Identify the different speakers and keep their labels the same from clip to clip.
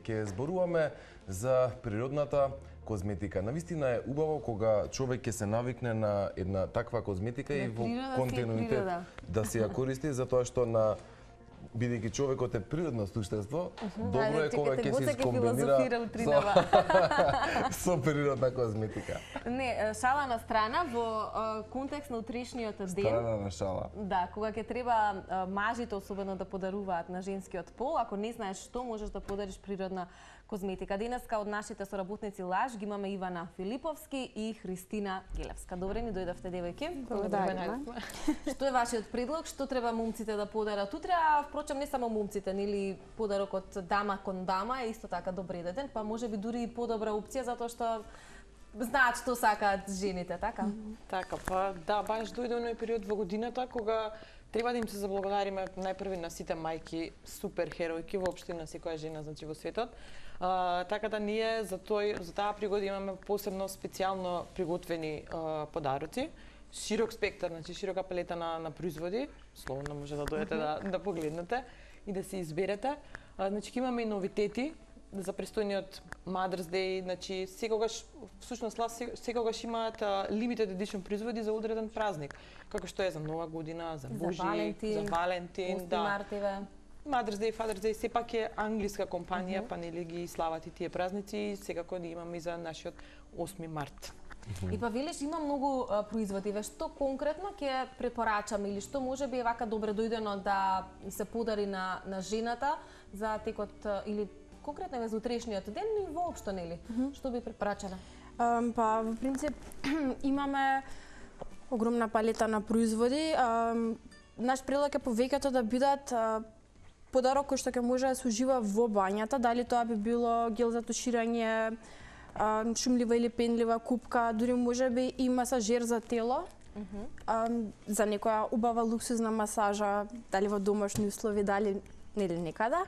Speaker 1: Ке зборуваме за природната козметика. Навистина е убаво кога човек ќе се навикне на една таква козметика и во континуитет да се ја користи, затоа што бидејќи човекот е природно суштество, добро е кога ќе се искомбинира со природна козметика.
Speaker 2: Не, шала на страна, во контекст на утрешниот ден.
Speaker 1: Страна на шала.
Speaker 2: Да, кога ќе треба мажите особено да подаруваат на женскиот пол, ако не знаеш што, можеш да подариш природна козметика. Денеска од нашите соработници Лаж ги имаме Ивана Филиповски и Христина Гелевска. Добре ни дојдовте, девојки.
Speaker 3: Благодарам.
Speaker 2: Што е вашиот предлог? Што треба момците да подарат утре? А впрочем не само момците, нели подарокот дама кон дама е исто така добреден, па можеби дури и подобра опција затоа што знаат што сакаат жените, така?
Speaker 3: Така, па да, баш дојде оној период во годината кога треба да им се заблагодариме најпрви на сите мајки, супер херојки, воопшто на секоја жена значи во светот. Така да ние за таа пригода имаме посебно специјално приготвени подароци. Широк спектар, значи широка палета на производи, слободно може да дојдете да погледнете и да се изберете. Значи имаме и новитети за престојниот Mother's Day, значи секогаш имаат limited edition производи за одреден празник, како што е за Нова година, за Божи, за Валентин,
Speaker 2: да. Мартиве.
Speaker 3: Mother's Day, Father's Day, сепак е англиска компанија, па нели ги слават и тие празници и секако да имаме и за нашиот 8 март.
Speaker 2: И па велиш има многу производи, што конкретно ќе препорачаме или што можеби е вака добре дојдено да се подари на жената за текот или конкретно за утрешниот ден и воопшто нели? Што би препорачале?
Speaker 4: Па во принцип имаме огромна палета на производи. Наш предлог е повеќето да бидат подарок кој што ќе може да се ужива во бањата, дали тоа би било гел за туширање, шумлива или пенлива купка, дури можеби и масажер за тело, за некоја убава луксузна масажа, дали во домашни услови, дали нели некада.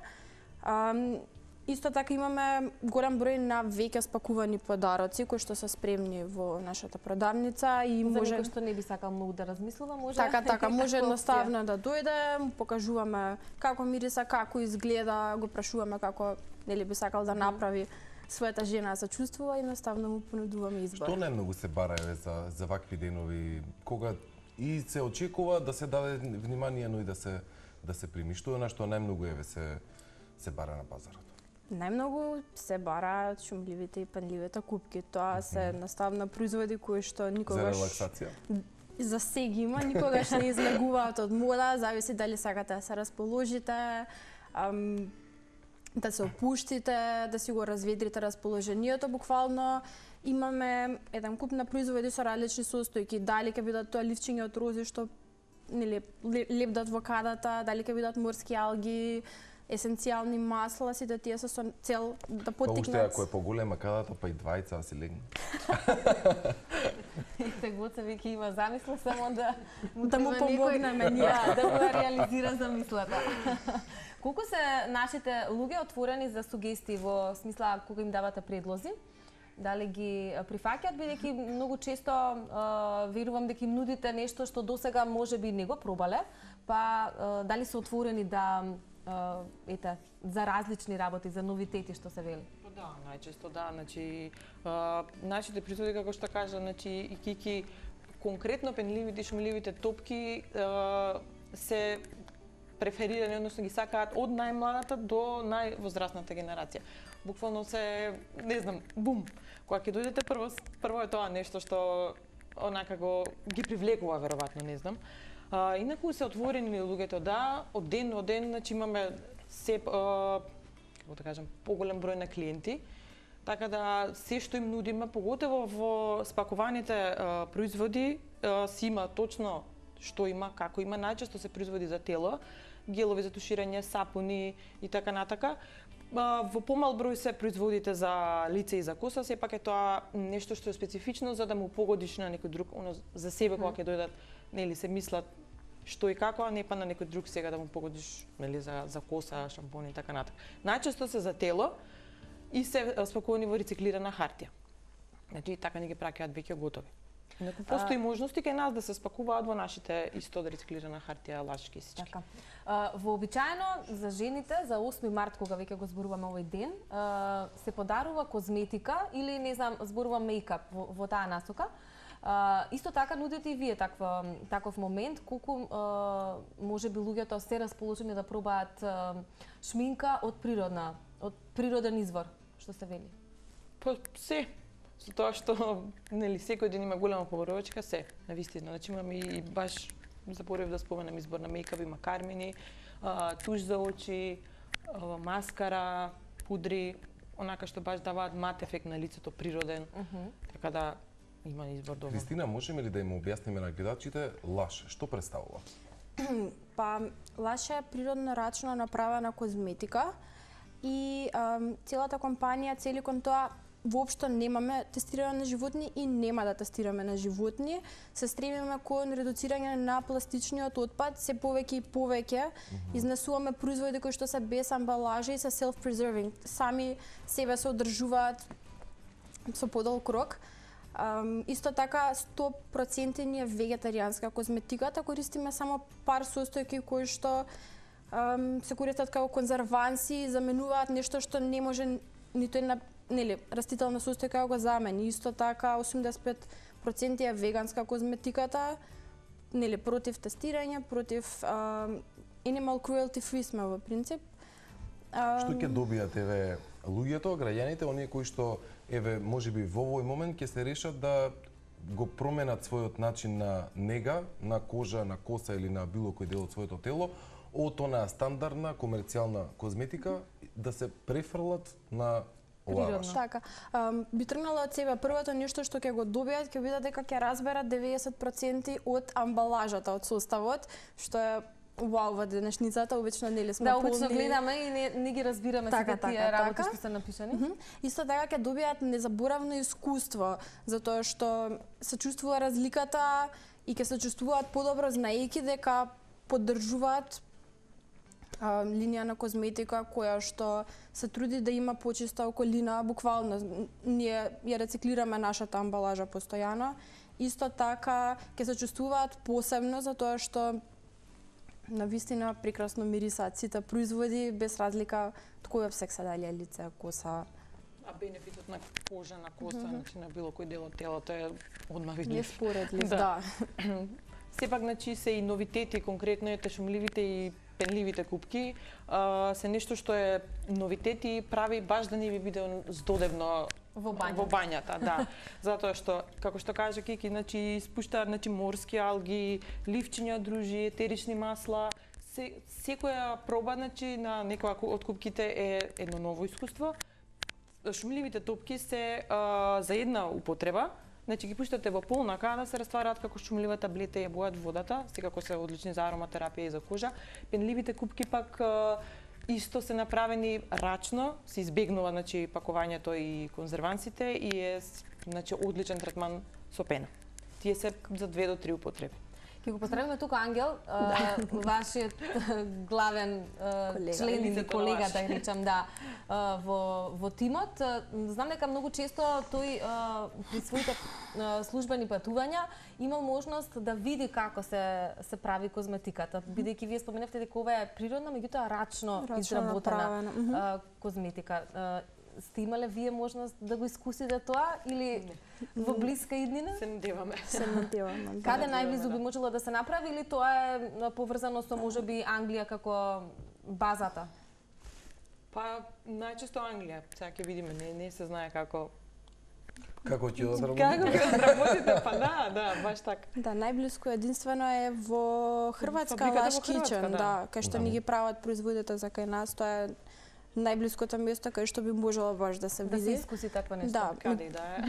Speaker 4: Исто така имаме голем број на веќе спакувани подароци кои што се спремни во нашата продавница и
Speaker 2: за
Speaker 4: може
Speaker 2: некој што не би сакал многу да размислува, може.
Speaker 4: Така, може едноставно да дојде, покажуваме како мириса, како изгледа, го прашуваме како нели би сакал да направи својата жена да се чувствува и едноставно му понудуваме избор.
Speaker 1: Што најмногу се бара за вакви денови, кога и се очекува да се даде внимание, но и да се прими, што е на што најмногу се бара на пазарот?
Speaker 4: Најмногу се бараат шумливите и пенливите купки. Тоа се наставно производи кои што никогаш...
Speaker 1: За релаксација?
Speaker 4: За сега има, никогаш не излегуваат од мода, зависи дали сакате да се расположите, да се опуштите, да си го разведрите расположението, буквално имаме еден куп на производи со различни состојки, дали ќе бидат тоа ливчиња од рози што нели лепдат во кадата, дали ќе бидат морски алги, есенцијални масла, сите тие се со цел да поттикнат.
Speaker 1: Уште ако е поголема кадата, па и двајца си легне.
Speaker 2: Тегоца веќе има замисла само да
Speaker 4: му помогнеме ние
Speaker 2: да го реализира замислата. Колку се нашите луѓе отворени за сугестии во смисла кога им давате предлози? Дали ги прифаќаат, бидејќи многу често верувам дека им нудите нешто што досега можеби не го пробале, па дали се отворени да за различни работи, за новитети што се вели?
Speaker 3: Да, најчесто да, значи нашите производи како што кажа, значи и кики конкретно пенливите и шумливите топки се преферирани, односно ги сакаат од најмладата до највозрастната генерација. Буквално се, не знам, бум. Кога ќе дојдете прво е тоа нешто што онака ги привлекува веројатно, не знам. Инаку се отворени луѓето, да, од ден во ден, значи имаме како да кажам, поголем број на клиенти, така да се што им нудиме, поготово во спакуваните производи, си има точно што има, како има, најчесто се производи за тело, гелови за туширање, сапуни и така натака. Во помал број се производите за лице и за коса, сепак е тоа нешто што е специфично за да му погодиш на некој друг, за себе кога ќе дојдат, нели се мислат што и како, а не па на некој друг сега да му погодиш, нели за коса, шампони и така натака. Најчесто се за тело и се спакувани во рециклирана хартија. Значи така ни ги праќаат веќе готови. Неко постои можности кај нас да се спакуваат во нашите исто рециклирана хартија лаш кесички.
Speaker 2: Така. Вообичаено за жените за 8 март кога веќе го зборуваме овој ден, се подарува козметика или не знам, зборува мејкап во таа насока. Исто така нудите и вие таков момент, колку можеби луѓето се расположени да пробаат шминка од природен извор, што се вели?
Speaker 3: Па се, со тоа што нели секој ден има голема поборовачка, се, навистина. Значи имаме и баш заборев да споменам избор на мејкап, има кармини, туш за очи, маскара, пудри, онака што баш даваат мат ефект на лицето, природен. Така да има избор добро.
Speaker 1: Кристина, можеме ли да им објасниме на гледачите лаш што представува?
Speaker 4: Па лаш е природно рачно направена козметика и целата компанија цели кон тоа воопшто немаме тестирање на животни и нема да тестираме на животни. Се стремиме кон редуцирање на пластичниот отпад, се повеќе и повеќе. Изнесуваме производи кои што се без амбалажа и се self-preserving. Сами себе се одржуваат со подолг рок. Исто така 100% ни е вегетаријанска козметиката, користиме само пар состојки кои што се користат како конзерванси, заменуваат нешто што не може ниту една растителна состојка го замени. Исто така 85% е веганска козметиката, против тестирање, против animal cruelty free сме во принцип.
Speaker 1: Што ќе добијат луѓето, граѓаните, оние кои што можеби во овој момент ќе се решат да го променат својот начин на нега, на кожа, на коса или на било кој дел од своето тело, од онаа стандардна комерцијална козметика да се префрлат на оваа.
Speaker 4: Така, би тргнала од себе. Првото нешто што ќе го добијат, ќе видат дека ќе разберат 90% од амбалажата, од составот, што е вау во денешницата, обично сме
Speaker 2: да, обично гледаме и не ги разбираме сите тие работи што се напишани.
Speaker 4: Исто така ќе добијат незаборавно искуство, затоа што се чувствува разликата и ќе се чувствуваат подобро знаејќи дека поддржуваат линија на козметика која што се труди да има почиста околина, буквално ние ја рециклираме нашата амбалажа постојано. Исто така ќе се чувствуваат посебно затоа што навистина прекрасно мирисаат сите производи без разлика од кој опсек се дали лице, коса.
Speaker 3: А бенефитот на кожа, на коса, значи на било кој дел од телото е одма видлив.
Speaker 4: Неспоредлив, да.
Speaker 3: Сепак, значи, се и новитети, конкретно ете шумливите и пенливите купки, се нешто што е новитет и прави баш да не ви биде здодевно во бањата, да. Затоа што, како што кажа Кики, значи спуштаат морски алги, ливчиња дружи, етерични масла. Секоја проба на некоја од купките е едно ново искуство. Шумливите топки се за една употреба. Значи ги пуштате во полна када се раствараат како шумлива таблета и ја бојат водата, секако се одлични за ароматерапија и за кожа. Пенливите купки пак исто се направени рачно, се избегнува пакувањето и конзервансите и е одличен третман со пена. Тие се за 2 до 3 употреби.
Speaker 2: Ќе го поздравиме тука Ангел, вашиот главен член или колега, да речам, во тимот. Знам дека многу често тој при своите службени патувања имал можност да види како се прави козметиката, бидејќи вие споменавте дека ова е природна, меѓутоа рачно изработена козметика. Сте имале вие можност да го искусите тоа или во блиска иднина?
Speaker 3: Се надеваме.
Speaker 2: Каде најблизу би можело да се направи или тоа е поврзано со можеби Англија како базата?
Speaker 3: Па најчесто Англија, сега ќе видиме, не се знае како
Speaker 1: ќе одработите?
Speaker 3: Како ќе одработите, па да, баш така.
Speaker 4: Да, најблиско единствено е во Хрватска Лаш Кичен, да, кај што ни ги прават производите за кај нас, тоа е најблиското место кај што би можело баш да се види.
Speaker 2: Да се искуси такво нешто.
Speaker 4: Да.
Speaker 3: Каде да е.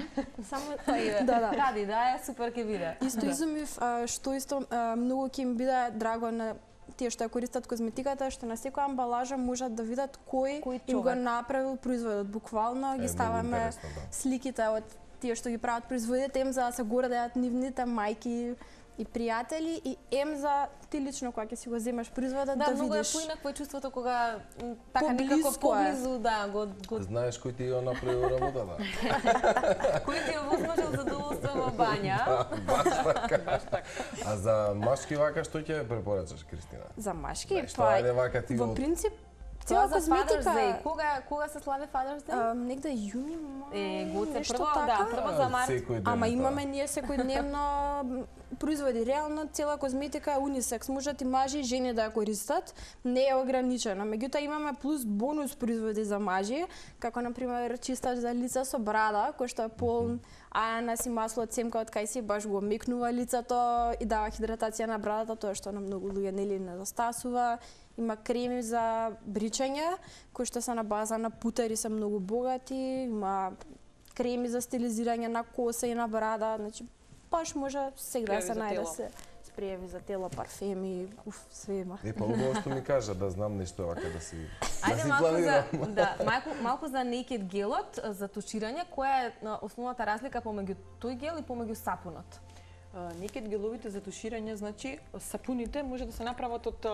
Speaker 2: Само тоа е. Каде да е, супер ќе биде.
Speaker 4: Исто изумив, што исто многу ќе им биде драго на тие што ја користат козметиката, што на секоја амбалажа можат да видат кој им го направил производот. Буквално ги ставаме сликите од тие што ги прават производите им за да се гордеат нивните мајки и пријатели и за ти лично кога ќе си го земеш производот да видиш.
Speaker 2: Да, многу е поинакво чувството кога така некако поблизу, да, го
Speaker 1: Знаеш кој ти ја направил работата?
Speaker 2: Кој ти ја возможил задоволство во бања?
Speaker 1: Баш така. А за машки вака што ќе препорачаш, Кристина?
Speaker 4: За машки,
Speaker 1: во
Speaker 4: принцип
Speaker 2: цела козметика. Кога се слави Father's Day?
Speaker 4: Негде јуни,
Speaker 2: Гоце прво за март.
Speaker 4: Ама имаме ние секојдневно производи. Реално цела козметика е унисекс, можат и мажи и жени да ја користат, не е ограничена. Меѓутоа имаме плюс бонус производи за мажи, како на пример чистач за лица со брада, кој што е полн ананас и масло од семка од кајси, баш го мекнува лицето и дава хидратација на брадата, тоа што на многу луѓе нели недостасува. Има креми за бричање, кои што се на база на путер и се многу богати, има креми за стилизирање на коса и на брада, значи баш може сега се најде се спрееви за тело, парфеми, све има.
Speaker 1: Па убаво што ми кажа да знам нешто вака да си
Speaker 2: малку за Naked гелот за туширање, која е основната разлика помеѓу тој гел и помеѓу сапунот?
Speaker 3: Naked геловите за туширање, значи сапуните може да се направат од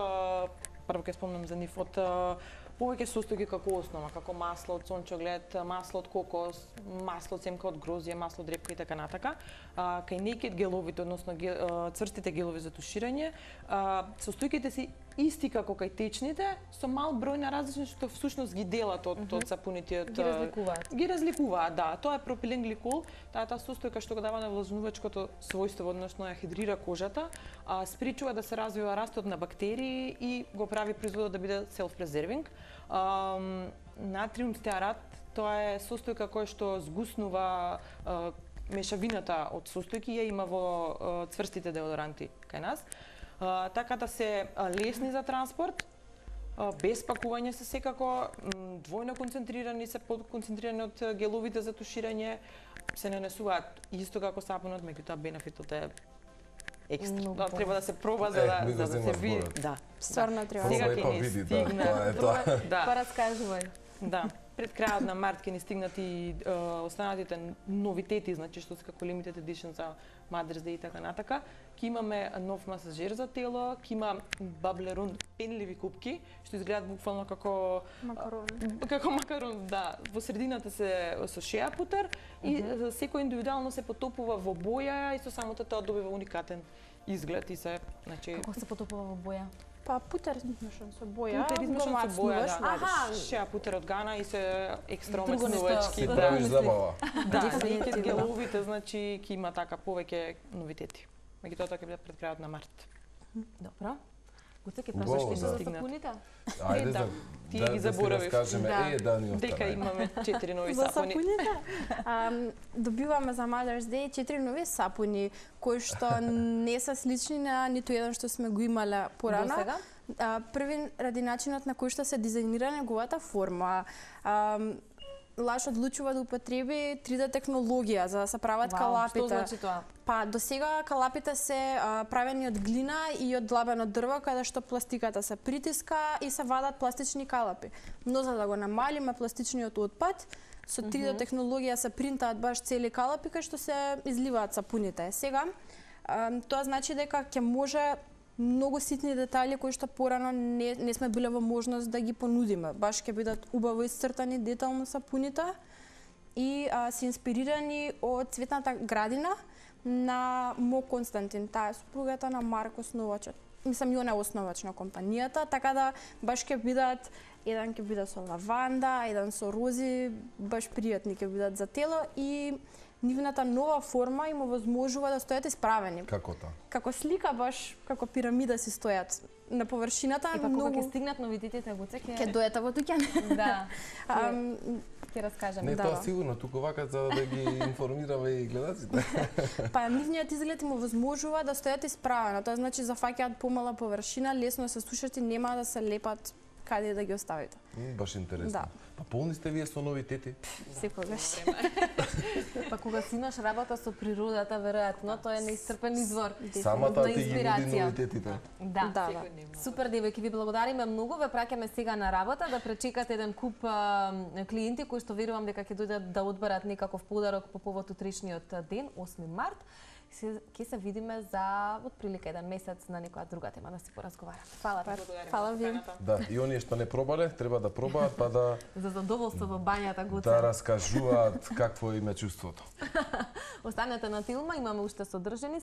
Speaker 3: прво ќе спомнам за нив, од повеќе состојки како основа, како масло од сончоглед, масло од кокос, масло од семка од грозје, масло од репка и така натака. Кај Naked геловите, односно цврстите гелови за туширање, состојките се исти како кај течните, со мал број на различни што всушност ги делат од сапуните. Ги разликуваат, да. Тоа е пропилен гликол, таа состојка што го дава на влажнувачкото својство, односно ја хидрира кожата, спречува да се развива растот на бактерии и го прави производот да биде self-preserving. Натриум стеарат, тоа е состојка која што згуснува мешавината од состојки, ја има во цврстите деодоранти кај нас. Така да се лесни за транспорт, без пакување се секако, двојно концентрирани се, подконцентрирани од геловите за туширање, се нанесуваат исто како сапунот, меѓутоа бенефитот е екстра. Треба да се проба за да се види. Да.
Speaker 4: Стварно треба.
Speaker 3: Сега ќе ни стигна.
Speaker 2: Па раскажувај.
Speaker 3: Да. Пред крајот на март ќе ни стигнат и останатите новитети, значи што се како limited edition за Mother's Day и така натака. Ки имаме нов масажер за тело, ки има Bablerun пенливи купки, што изгледаат буквално како
Speaker 4: макарон.
Speaker 3: Како макарон, да. Во средината се со шеа путер и секој индивидуално се потопува во боја и со самото тоа добива уникатен изглед и се, значи
Speaker 2: Како се потопува во боја?
Speaker 4: Па путер измешан со боја.
Speaker 3: Путер измешан со боја, да. Шеа путер од Гана и се екстра омаснувачки.
Speaker 1: Си правиш забава.
Speaker 3: Да, Naked геловите, значи ќе има така повеќе новитети. Меѓутоа тоа ќе биде пред крајот на март.
Speaker 2: Добро. Гоце ќе прашаш ќе се сапуните?
Speaker 1: Ајде да
Speaker 3: ти ги заборавив.
Speaker 1: Да ни остана.
Speaker 3: Дека имаме 4 нови
Speaker 4: За
Speaker 3: сапуни.
Speaker 4: сапуните? Добиваме за Mother's Day 4 нови сапуни, кои што не се слични на ниту еден што сме го имале порано. Први ради начинот на кој што се дизајнира неговата форма. Лаш одлучува да употреби 3D технологија за да се прават калапите.
Speaker 2: Што значи тоа?
Speaker 4: Па до сега калапите се правени од глина и од длабено дрво, каде што пластиката се притиска и се вадат пластични калапи. Но за да го намалиме пластичниот отпад, со 3D технологија се принтаат баш цели калапи кај што се изливаат сапуните. Сега тоа значи дека ќе може многу ситни детали кои што порано не сме биле во можност да ги понудиме. Баш ќе бидат убаво исцртани детално сапуните и се инспирирани од цветната градина на Мо Константин, таа е супругата на Марк основачот. Мислам, и она е основач на компанијата, така да баш ќе бидат, еден ќе биде со лаванда, еден со рози, баш пријатни ќе бидат за тело и нивната нова форма им овозможува да стојат исправени.
Speaker 1: Како тоа?
Speaker 4: Како слика, баш како пирамида си стојат на површината.
Speaker 2: И па кога ќе стигнат новитетите, Гоце
Speaker 4: ќе дојдете во дуќан.
Speaker 2: Да. Ќе раскажеме.
Speaker 1: Не, тоа сигурно, туку вака за да ги информираме и гледаците.
Speaker 4: Па нивниот изглед им овозможува да стојат исправено. Тоа значи зафаќаат помала површина, лесно се сушат и нема да се лепат каде да ги оставите.
Speaker 1: Баш интересно.
Speaker 4: Да.
Speaker 1: Па полни сте вие со новитети?
Speaker 4: Секогаш.
Speaker 2: Па кога си имаш работа со природата, веројатно, тоа е неисцрпен извор
Speaker 1: Самата
Speaker 2: на
Speaker 1: ти ги нуди
Speaker 2: инспирација.
Speaker 1: новитетите.
Speaker 2: Да. Супер, девојки, ви благодариме многу. Ве праќаме сега на работа да пречекате еден куп клиенти кои што верувам дека ќе дојдат да одберат некаков подарок по повод утришниот ден, 8 март. Ќе се видиме за отприлика еден месец на некоја друга тема да си поразговараме. Фала ти.
Speaker 4: Фала ви.
Speaker 1: Да, и оние што не пробале, треба да пробаат па да
Speaker 2: За задоволство во бањата Гоце.
Speaker 1: да раскажуваат какво им е чувството.
Speaker 2: Останете на Тилма, имаме уште содржини.